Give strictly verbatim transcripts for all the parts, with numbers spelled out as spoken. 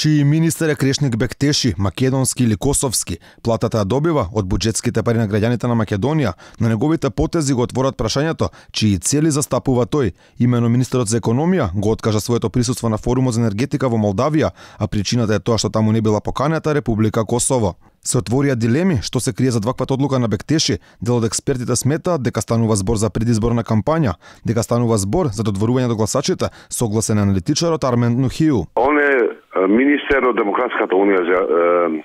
Чии министер е Крешник Бектеши, македонски или косовски, платата ја добива од буџетските пари на граѓаните на Македонија, но неговите потези го отворат прашањето чии цели застапува тој. Имено министерот за економија го откажа своето присуство на форумот за енергетика во Молдавија, а причината е тоа што таму не била поканета Република Косово. Се отворија дилеми што се крие зад ваквата одлука на Бектеши. Дел од експертите сметаат дека станува збор за предизборна кампања, дека станува збор за додворување до гласачите, согласен аналитичарот Армен Нухију. Он е министер од Демократската унија за е,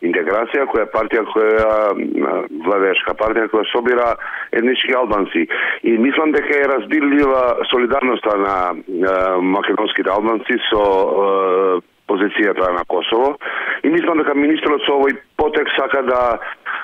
интеграција, која е партија која владеешка партија која собира етнички албанци. И мислам дека е разбирлива солидарноста на е, македонските албанци со е, позицијата на Косово. И мислам дека министерот со овој потек сака да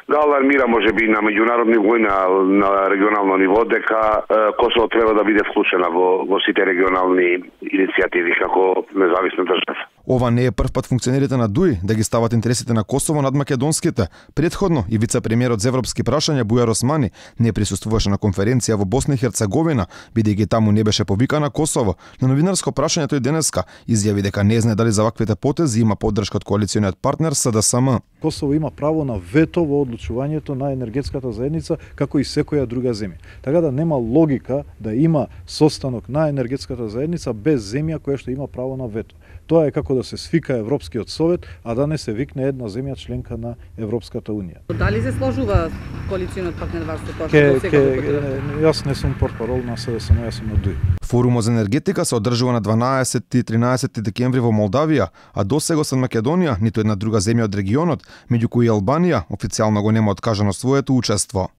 да алармира можеби на меѓународни ниво, на, на регионално ниво, дека е, Косово треба да биде вклучена во, во сите регионални иницијативи како независна држава. Ова не е прв пат функционерите на ДУИ да ги стават интересите на Косово над македонските. Предходно и вице-премиерот за европски прашања Бујар Османи не присуствуваше на конференција во Босна и Херцеговина, бидејќи таму не беше повикана Косово. На новинарско прашање тој денеска изјави дека не знае дали за ваквите потези има поддршка од коалициониот партнер С Д С М. Косово има право на вето во одлучувањето на енергетската заедница како и секоја друга земја. Така да нема логика да има состанок на енергетската заедница без земја која што има право на вето. Тоа е како да се свика Европскиот совет, а да не се викне една земја членка на Европската унија. Дали се сложува коалициониот партнер вас со тоа што сега го Јас не сум портпарол на С Д С М, јас сум на ДУИ. Форумот за енергетика се одржува на дванаесетти и тринаесетти декември во Молдавија, а досега освен Македонија, ниту една друга земја од регионот, меѓу кои Албанија, официјално го нема откажано своето учество.